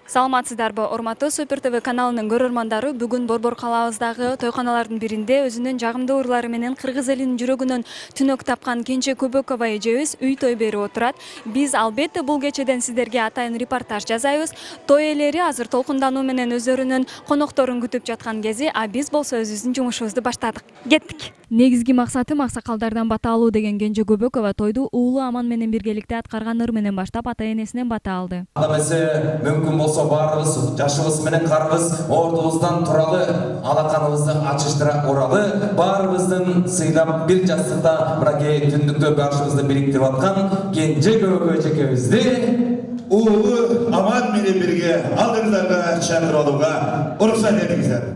Саламатсыздарбы, урматтуу Супер ТВ каналынын көрөрмандары, бүгүн Борбор калабыздагы тойканалардын биринде өзүнүн жагымдуу ырлары менен кыргыз элинин жүрөгүнөн түнөк тапкан Кенже Көбөкова эжебиз үй той берип отурат. Биз албетте бул кечеден сиздерге атайын репортаж жасайбыз. Той ээлери азыр толкундануу менен өздөрүнүн конокторун күтүп жаткан кези, а биз болсо өзүбүздүн жумушубузду баштадык. Кеттик. Негизги максатым аксакалдардан бата алуу деген Кенже Көбөкова тойду уулу Аман менен биргеликте аткарган ыр менен баштап ата энесинен бата алды. Мүмкүн болсо баарыбыз жашыбыз менен карыбыз ордубуздан туралы, алаканыбызды ачыштыра уралы, баарыбыздын сыйлап бир жастыкта мынакей түндүктө башыбызды бириктирип аткан Кенже Көбөкова эжекебизди уулу Аман менен бирге алдыңыздарга чакырып алууга уруксат этиңиздер.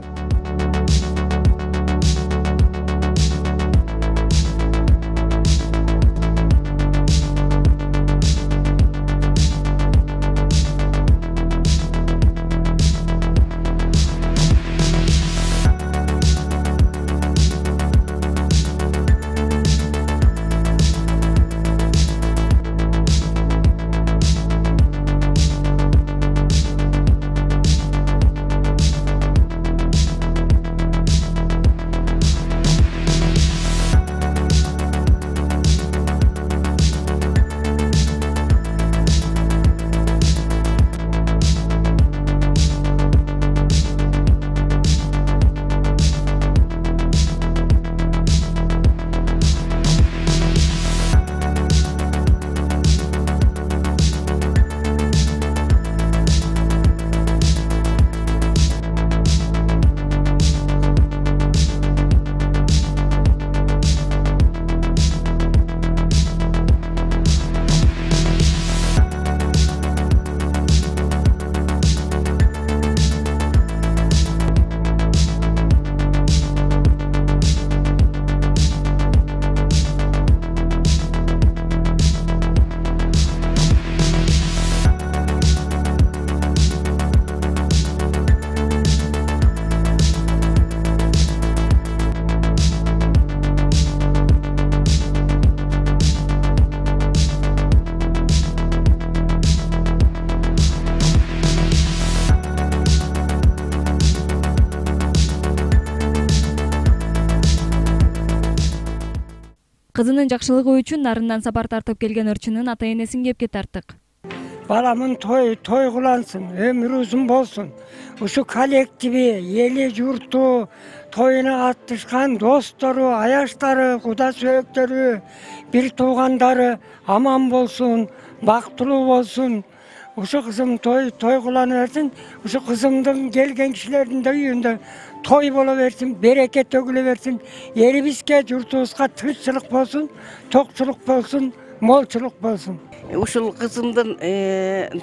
Кызынын жакшылыгы үчүн нарындан сапар тартып келген ырчынын ата энесин кепке тарттык. Баламын той кылансın, өмүрү узун болсун. Ушу коллективи, эли журту, тоюна катышкан достору, аяштары, куда сөөктөрү, бир туугандары аман болсун, бактылуу болсун. Ушу кызым той кылана берсин, ушу кызымдын келген кишилердин да үйүндө той боло берсин, береке төгүлө берсин. Элибизге, журтубузга тынччылык болсун, токчулук болсун, молчулук болсун. Ушул кызымдын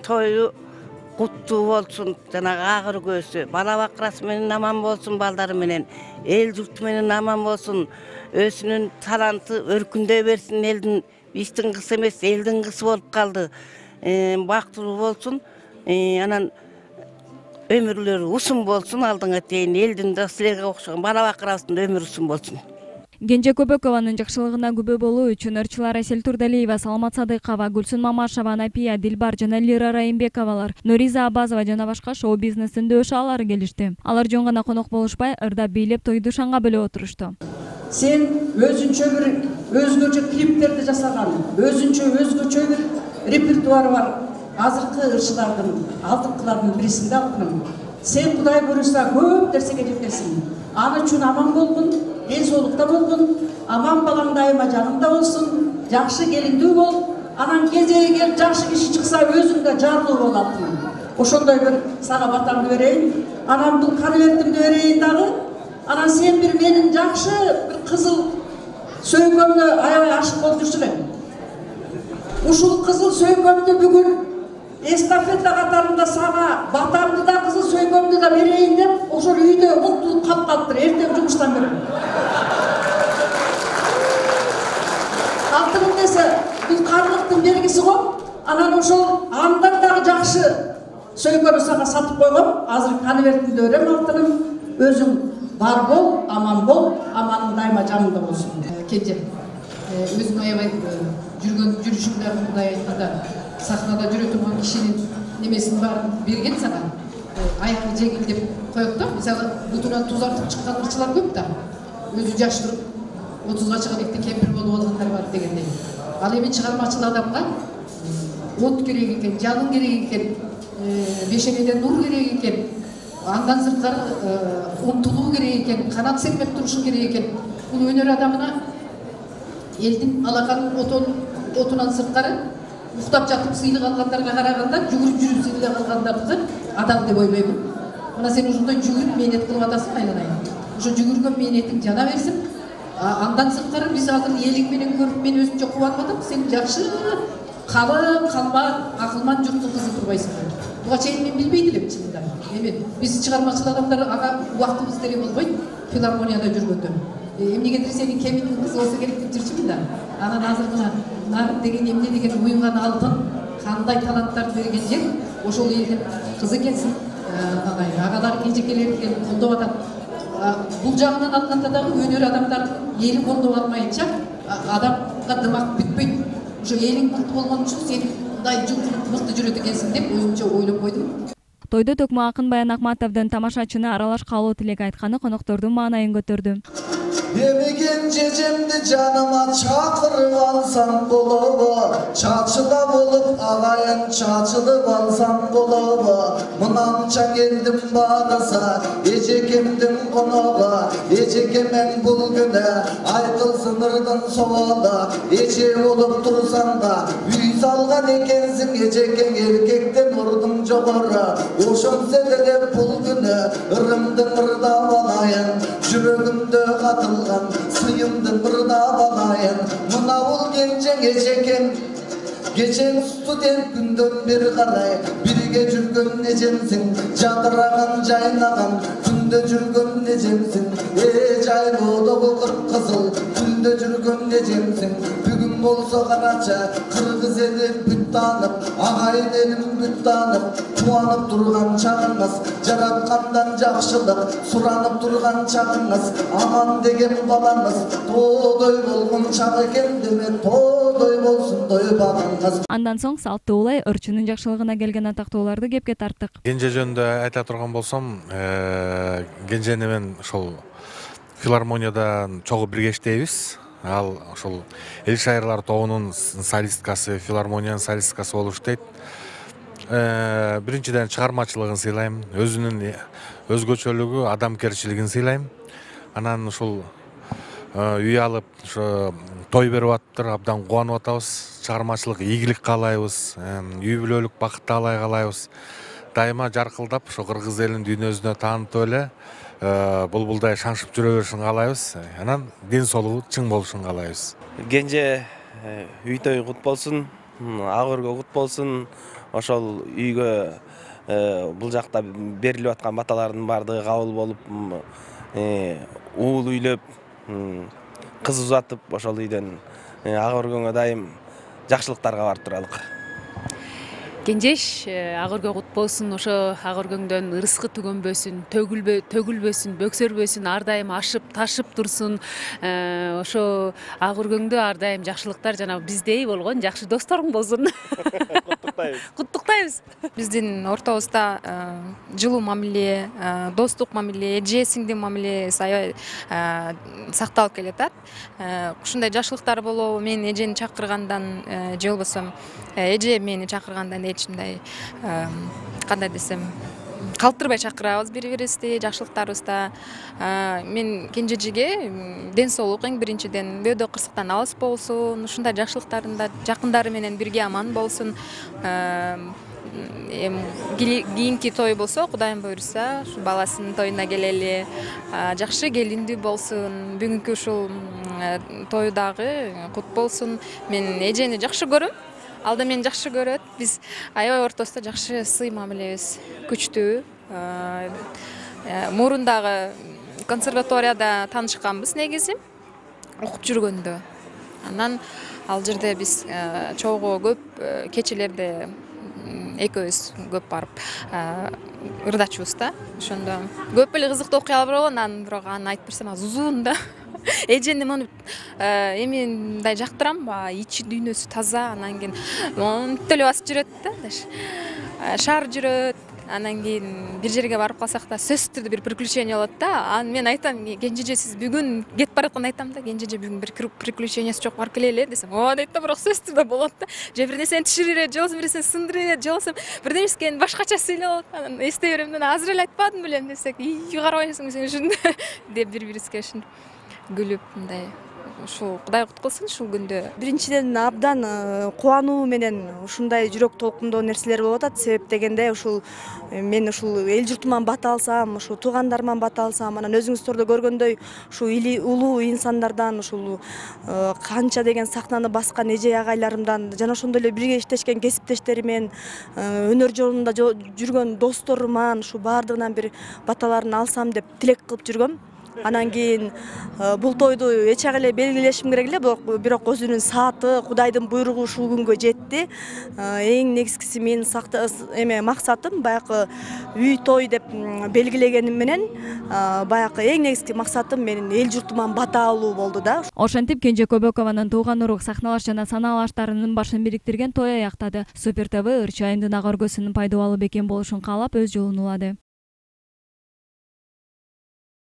тою куттуу болсун, жанагы агыр көзү, бала бакырасы менен аман болсун, балдары менен, эл журту менен аман болсун, өзүнүн таланты өркүндөй берсин, элдин биздин кызы эмес, элдин кызы болуп калды. Бактылуу болсун, анан өмүрлөрү узун болсун, алдыңа чейин элдин да силерге окшогон бала бакырабыздын өмүрү узун болсун. Кенже Көбөкованын жакшылыгына күбө болуу үчүн ырчылар Асель Турдалиева, Саламат Садыкова, Гүлсүн Мамашева, Напия, Дилбар жана Лира Райымбековалар, Нуриза Абазова жана башка шоу-бизнестин дөш аалары келишти. Алар жөн гана конок болушпай, ырда бийлеп тойду шаңга бөлөп отурушту. Сен өзүнчө бир өзгөчө клиптерди жасаган, өзгөчө бир репертуары бар азыркы ырчылардын, алдыңкылардын бирисинде алтыным. Сен Кудай буюрса көп нерсеге жетесиң. Аны үчүн аман болгун, эл соолукта болгун, аман балаң дайыма жаныңда болсун, жакшы келиндүү бол, анан кезеги келип жакшы киши чыкса өзүң да жарлуу бол алтыным. Ошондой бир сага батамды берейин, анан бул конвертимди берейин дагы. Анан сен бир менин жакшы бир кызыл сөйкөмдө аябай ашык болуп жүрсүң эң. Ушул кызыл сөйкөмдү бүгүн эстафета катарында сага батамды да кызыл сөйкөмдү да берейин деп, ошол үйдө уктулуп калып калыптыр, эртең жумуштан бери. Алтыным десе, бул карлыктын белгиси го. Анан ошол андан дагы жакшы сөйкөнү сага сатып койгом. Азыр конвертимди берем алтыным. Өзүң бар бол, аманың дайыма жаныңда болсун. Кенже, өзүң аябай жүрүшүңдө Кудай айтканда сахнада жүрө турган кишинин немесин баарын берген сага. аякы жеңил деп коет да. Мисалы бутунан туз артып чыккан ырчылар көп да. Өзү жаш туруп 30га чыгып эки кемпир болуп алгандар бар дегендей. Ал эми чыгармачыл адамга от керек экен, жалын керек экен, бешенеден нур керек экен, андан сырткары умтулуу керек экен, канат сермеп турушу керек экен. Бул өнөр адамына элдин алакан отунан сырткары уктап жатып сыйлык алгандарга караганда жүгүрүп жүрүп сыйлык алгандарды адал деп ойлоймун. Мына сен ушундай жүгүрүп мээнет кылып атасың айланайын. Ошо жүгүргөн мээнетиң жана берсин. Андан сырткары биз азыр элиң менен көрүп мен өзүмчө кубанып сен жакшы калың, калман, акылман журттун кызы турбайсың. Буга чейин мен билбейт элем чынында. Эми биз чыгармачыл адамдар ага убактыбыз тере болбойт филармонияда жүргөндө. Эмнегедир сенин кемиңдин кызы болсо керек деп жүрчүмүн да. Анан азыр мына Нарын деген эмне деген уюнган алтын, кандай таланттарды берген жер, ошол элдин кызы экенсиң. Агалар кенжекелер келип колдоп атат. Бул жагынан алганда дагы өнөр адамдардын эли колдоп алмайынча адамга дымак бүтпөйт. Ошо элиң мыкты болгон үчүн сен мындай мыкты жүрөт экенсиң деп өзүмчө ойлоп койдум. Тойдо Токмо Акын Баян Акматовдун тамашачыны аралаш калуу тилек айтканы коноктордун маанайын көтөрдү. Емеген жежемді жаныма чакырып алсам болобу, чачыла болуп агайын чачылып алсам болобу. Мынанча келдим баараса эжекемдин коногу, эжекемен бул күнү айтылсын ырдын соолу. Эже болуп турсаң да үй салган экенсиң, эжекең эркектен ордуң жогору. Ошонсо деле бул күнү ырымдын ырдап алайын, жүрөгүмдө катыл сыйымды ырдап алайын. Мына бул кенжең эжекең кечең студент күндөн бери карай бирге жүргөн эжемсиң, жадыраган жайнаган күндө жүргөн эжемсиң. Жайлоодогу кып-кызыл күндө жүргөн эжемсиң. Бүгүн болсо карача кыргыз эли бүт таанып, агайын элим бүт таанып, кубанып турган чагыңыз, жараткандан жакшылык суранып турган чагыңыз, аман деген балаңыз тоодой болгон чак экен деме, тоодой болсун дойбагыңыз. Андан соң салттуу улай өрчүнүн жакшылыгына келген атактууларды кепке тарттык. Кенже жөнүндө айта турган болсом, Кенжени мен ошол филармонияда чогуу бирге иштейбиз. Ал ошол эл шайырлар тобунун солисткасы, филармониянын солисткасы болуп иштейт. Биринчиден чыгармачылыгын сыйлайм, өзүнүн өзгөчөлүгү, адамгерчилигин сыйлайм. Анан ушул үй алып, ошо той берип атыптыр, абдан кубанып атабыз. Чыгармачылык ийгилик каалайбыз, үй бүлөлүк бакыттаалай каалайбыз. Дайыма жаркылдап, ошо кыргыз элин дүйнөсүнө таанытып эле булбулдай шаңшып жүрө беришин каалайбыз. Анан ден соолугу чың болушун каалайбыз. Кенже үй той кут болсун, ак өргө кут болсун. Ошол үйгө бул жакта берилип аткан баталардын баардыгы кабыл болуп, уул үйлөп, кыз узатып, ошол үйдөн ак өргөнгө дайым жакшылыктарга барып туралык. Кенжеш ак өргө кут болсун, ошо ак өргөңдөн ырыскы түгөнбөсүн, төгүлбөсүн, бөксөрбөсүн, ар дайым ашып, ташып турсун. Ошо ак өргөңдө ар дайым жакшылыктар жана биздей болгон жакшы досторуң болсун. Куттуктайбыз. Биздин ортобузда жылуу мамиле, достук мамиле, эже сиңдин мамилеси аябай сакталып келатат. Ушундай жакшылыктар болобу, мен эжени чакыргандан же болбосо эже мени чакыргандан эч мындай кандай десем калтырбай чакырабыз бири-бирибизди жакшылыктарыбызда. Мен кенжежиге ден соолук эң биринчиден, бөөдө кырсыктан алыс болсун, ушундай жакшылыктарында жакындары менен бирге аман болсун. Кийинки той болсо, Кудайым буйруса, ушу баласынын тоюна келели, жакшы келиндүү болсун. Бүгүнкү ушул той дагы кут болсун. Мен эжени жакшы көрөм. Ал да мени жакшы көрөт. Биз аябай ортосунда жакшы сый мамилебиз күчтүү. Мурундагы консерваторияда таанышканбыз негизи, окуп жүргөндө. Анан ал жерде биз чогуу көп кечелерде экөөбүз көп барып ырдачубуз да. Ошондо көп эле кызыктуу окуялар болгон, анан бирок аны айтып берсем аз узун да. Эжени эми мындай жактырам, ичи дүйнөсү таза, анан кийин монтип эле басып жүрөт да. Шаар жүрөт, Анан кийин бир жерге барып калсак да сөзсүз түрдө бир приключение болот да. Анан мен айтам, Кенжеже сиз бүгүн кетип баратканда айтам да, Кенжеже бүгүн бир приключениясы жок барып келели десем, ооба дейт да, бирок сөзсүз түрдө болот да. Же бир нерсени түшүрүп, же болбосо бир нерсени сындырып, же болбосо бирдемесин башкача сүйлөп алат. Анан эстей берем да, азыр эле айтпадым белем десек, карабайсың сен ушундай деп бири-бирибизге ушинтип күлүп мындай. Ушул Кудай куткулсун ушул күндө. Биринчиден абдан кубануу менен ушундай жүрөк толкундоо нерселер болуп атат. Себеп дегенде ушул мен ушул эл журтуман бата алсам, ушул туугандарыман бата алсам, анан өзүңүздөр да көргөндөй ушул улуу инсандардан, ушул канча деген сахнаны баскан эже агайларымдан жана ошондой эле бирге иштешкен кесиптештеримен, өнөр жолунда жүргөн досторуман ушу баардыгынан бир баталарын алсам деп тилек кылып жүргөм. Анан кийин бул тойду эчак эле белгилешим керек эле, бирок өзүнүн сааты, Кудайдын буйругу ушул күнгө жетти. Эң негизгиси менин максатым баягы үй той деп белгилегеним менен баягы эң негизги максатым менин эл журтуман бата алуу болду да. Ошентип Кенже Көбөкованын тууган урук сахналаш жана санаалаштарынын башын бириктирген той аяктады. Супер ТВ Ырчы айымдын ага өргөсүнүн пайдалуу бекен болушун каалап өз жолун улады.